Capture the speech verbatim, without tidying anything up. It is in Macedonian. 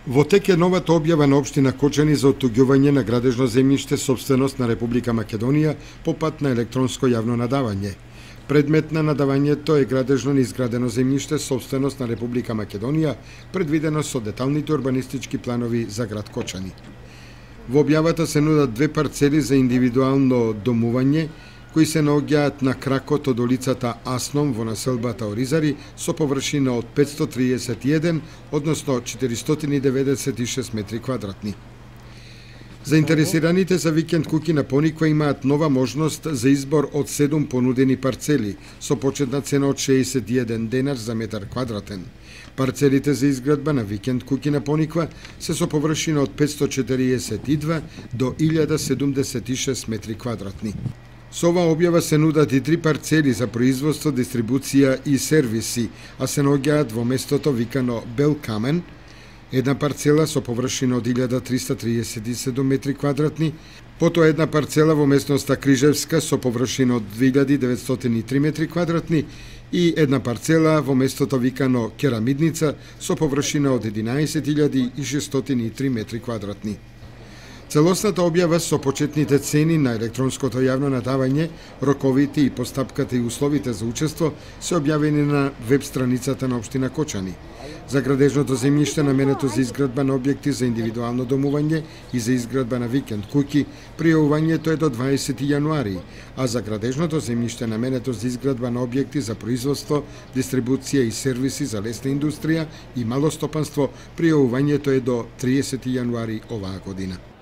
Во тек е новата објава на општина Кочани за оттуѓување на градежно земјиште собственост на Република Македонија по пат на електронско јавно надавање. Предмет на надавањето е градежно неизградено земјиште собственост на Република Македонија, предвидено со деталните урбанистички планови за град Кочани. Во објавата се нудат две парцели за индивидуално домување, кои се наоѓаат на кракот од улицата Асном во населбата Оризари со површина од петстотини триесет и еден, односно четиристотини деветдесет и шест метри квадратни. Заинтересираните за викенд куќи на Пониква имаат нова можност за избор од седум понудени парцели со почетна цена од шеесет и еден денар за метар квадратен. Парцелите за изградба на викенд куќи на Пониква се со површина од петстотини четириесет и два до илјада седумдесет и шест метри квадратни. Со оваа објава се нудат и три парцели за производство, дистрибуција и сервиси, а се наоѓаат во местото викано Бел Камен, една парцела со површина од илјада триста триесет и седум метри квадратни, потоа една парцела во местноста Крижевска со површина од две илјади деветстотини и три метри квадратни и една парцела во местото викано Керамидница со површина од единаесет илјади и шестстотини и три метри квадратни. Целосната објава со почетните цени на електронското јавно надавање, роковите и постапката и условите за учество се објавени на веб страницата на општина Кочани. За градежното земјиште наменето за изградба на објекти за индивидуално домување и за изградба на викенд куќи, пријавувањето е до дваесети јануари, а за градежното земјиште наменето за изградба на објекти за производство, дистрибуција и сервиси за лесна индустрија и мало стопанство, пријавувањето е до триесети јануари оваа година.